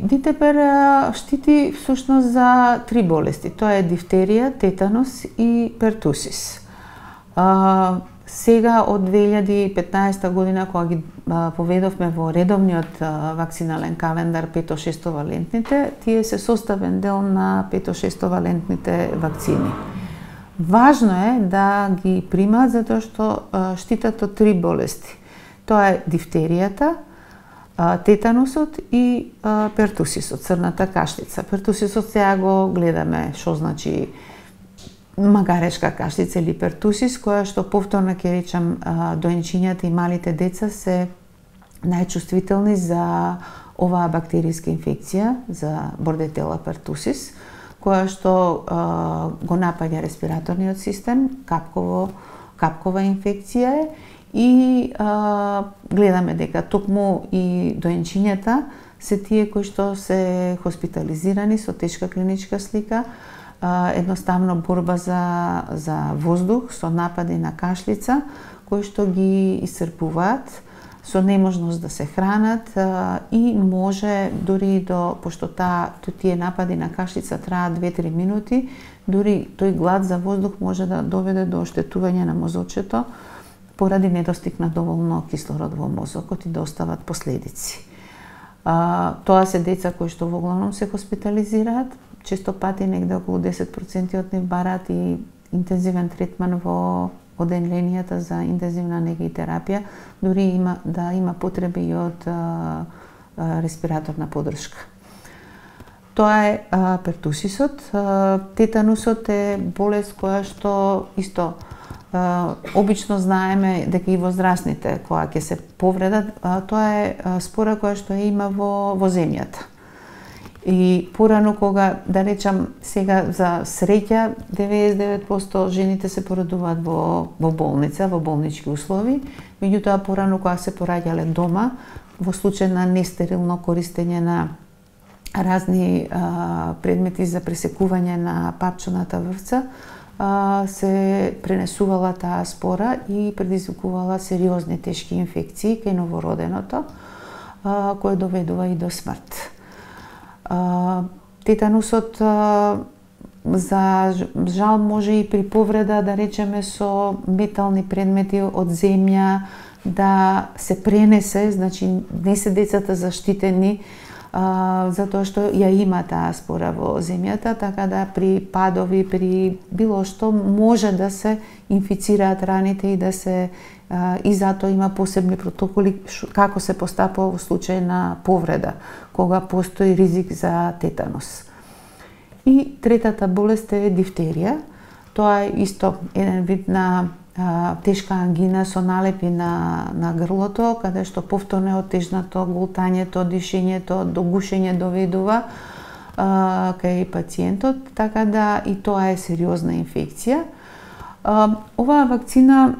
Витепер штити всушност за 3 болести. Тоа е дифтерија, тетанус и пертусис. Сега од 2015 година, кога ги поведовме во редовниот вакцинален календар 5-6 валентните, тие се составен дел на 5-6 валентните вакцини. Важно е да ги примаат затоа што штитат од 3 болести. Тоа е дифтеријата, тетанусот и пертусисот, црната кашлица. Пертусисот сега го гледаме што значи магарешка кашлица или пертусис, која што повторно ќе речам доенчињата и малите деца се најчувствителни за оваа бактеријска инфекција, за бордетела пертусис, која што го напаѓа респираторниот систем, капкова инфекција е, и гледаме дека токму и доенчињата се тие кои што се хоспитализирани со тешка клиничка слика, едноставно борба за воздух со напади на кашлица, кои што ги исцрпуваат со неможност да се хранат и може дури до, пошто тие напади на кашлица траат 2-3 минути, дури тој глад за воздух може да доведе до оштетување на мозочето поради недостиг на доволно кислород во мозокот и да остават последици. Тоа се деца кои што во главном се хоспитализираат, често пати негде околу 10% од нив бараат и интензивен третман во оделенијата за интензивна нега и терапија, дури има потреби и од респираторна поддршка. Тоа е пертусисот. Тетанусот е болест која што исто обично знаеме дека и возрастните кога ќе се повредат, тоа е спора која што има во земјата. И порано кога, да речам, сега за среќа 99% жените се породуваат во болница, во болнички услови, меѓутоа порано кога се пораѓале дома, во случај на нестерилно користење на разни предмети за пресекување на папчоната врвца, се пренесувала таа спора и предизвикувала сериозни тешки инфекции кај новороденото, кој доведува и до смрт. Тетанусот за жал може и при повреда, да речеме, со метални предмети од земја да се пренесе, значи не се децата заштитени затоа што ја има таа спора во земјата, така да при падови, при било што може да се инфицираат раните и да се и затоа има посебни протоколи како се постапува во случај на повреда, кога постои ризик за тетанус. И третата болест е дифтерија. Тоа е исто еден вид на тешка ангина со налепи на грлото, каде што повторно е отежнато голтањето, дишењето, до гушење доведува кај пациентот, така да и тоа е сериозна инфекција. Оваа вакцина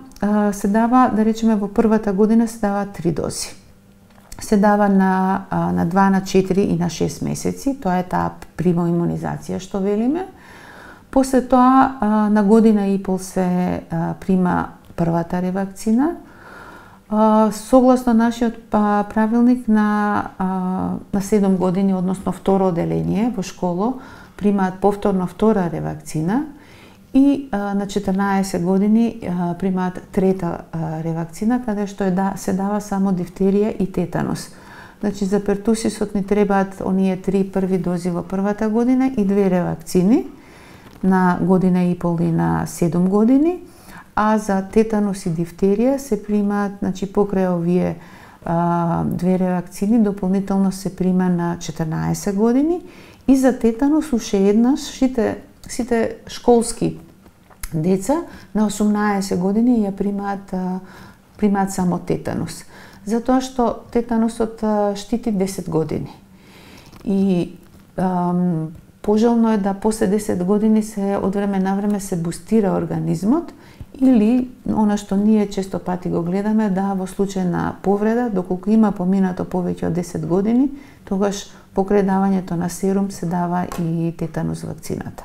се дава, да речеме, во првата година се дава 3 дози. Се дава на 2, на 4 и на 6 месеци, тоа е таа примоимунизација што велиме. После тоа на година и пол се прима првата ревакцина. Согласно нашиот правилник на 7 години, односно второ оделение во школа, примаат повторно втора ревакцина и на 14 години примаат трета ревакцина, каде што се дава само дифтерија и тетанус. Значи за пертусисот ни требаат оние 3 први дози во првата година и 2 ревакцини на година и пол и на 7 години, а за тетанус и дифтерија се примаат, значи покрај овие 2 ревакцини, дополнително се прима на 14 години и за тетанус уште еднаш сите школски деца на 18 години ја примаат само тетанус. Затоа што тетанусот штити 10 години. И пожелно е да после 10 години од време на време се бустира организмот или она што ние често пати го гледаме, да во случај на повреда, доколку има поминато повеќе од 10 години, тогаш покрај давањето на серум се дава и тетанус вакцината.